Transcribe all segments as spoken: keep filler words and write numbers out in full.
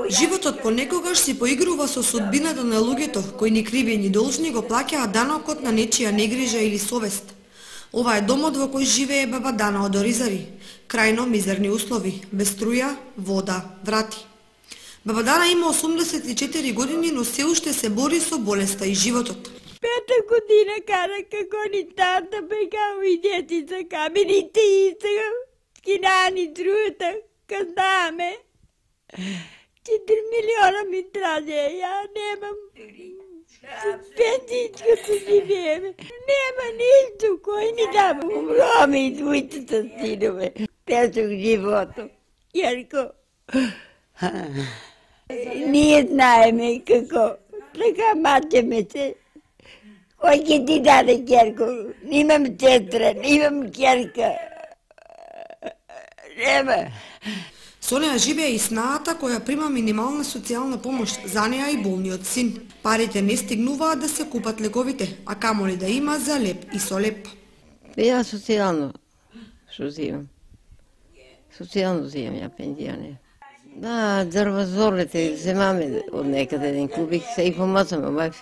Животот понекогаш си поигрува со судбината на луѓето кои ни криви ни должни го плаќаат данокот на нечија негрижа или совест. Ова е домот во кој живее баба Дана од Оризари. Крајно мизерни услови, без струја, вода, врати. Баба Дана има осумдесет и четири години, но се уште се бори со болеста и животот. Пета година кара како ни тата бега и детица камените и сега скинани друта казаме. Четири милиона ми траде, ја немам пензичка се живееме. Нема ништо кој ни дава. Умроме и двојцата синове. Тежок живото. Јерко, ние знаеме како. Така мачеме се. Кој ќе ти даде ќерко? Немам сестра, немам ќерка. Нема. Со неа живее и снаата која прима минимална социјална помош за неа и болниот син. Парите не стигнуваат да се купат лековите, а камоли да има за леп и со леп. Ја социјално што земам. Социјално земам ја пензија не. Да, дрвозорлите земаме од некаде еден кубик, се и помацаме, бај.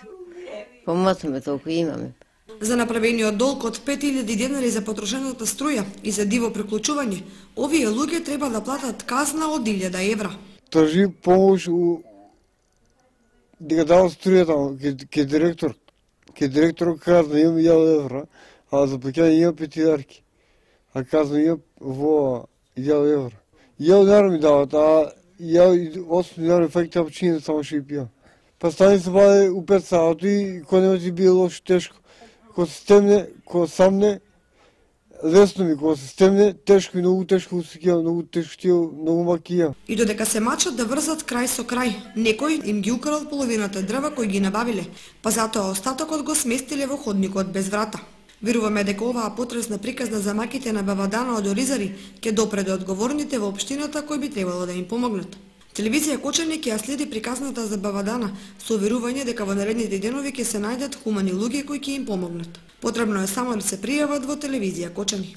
Помацаме толку имаме. За направениот долг од пет илјади денари за потрошената струја и за диво приклучување, овие луѓе треба да платат казна од илјада евра. Тржи помош у дека дава струјата ке директор. Ке директор казна имам илјада евра, а за плаќање имам пет илјади. А казна имам во илјада евра. Илјада денари ми дават, а ја осум денари факти апчине само што и пијам. Па стани се баде у пет сати и кој нема ти бие лошо тешко. Ко се стемне, ко самне, лесно ми, ко се стемне, тешко и многу тешко усекија, многу тешко тие, многу макија. И додека се мачат да врзат крај со крај, некој им ги украл половината дрва кои ги набавиле, па затоа остатокот го сместиле во ходникот без врата. Веруваме дека оваа потресна приказна за маките на баба Дана од Оризари ќе допре до одговорните во општината кои би требало да им помогнат. Телевизија Кочани ќе ја следи приказната за баба Дана со верување дека во наредните денови ќе се најдат хумани луѓе кои ќе им помогнат. Потребно е само да се пријават во телевизија Кочани.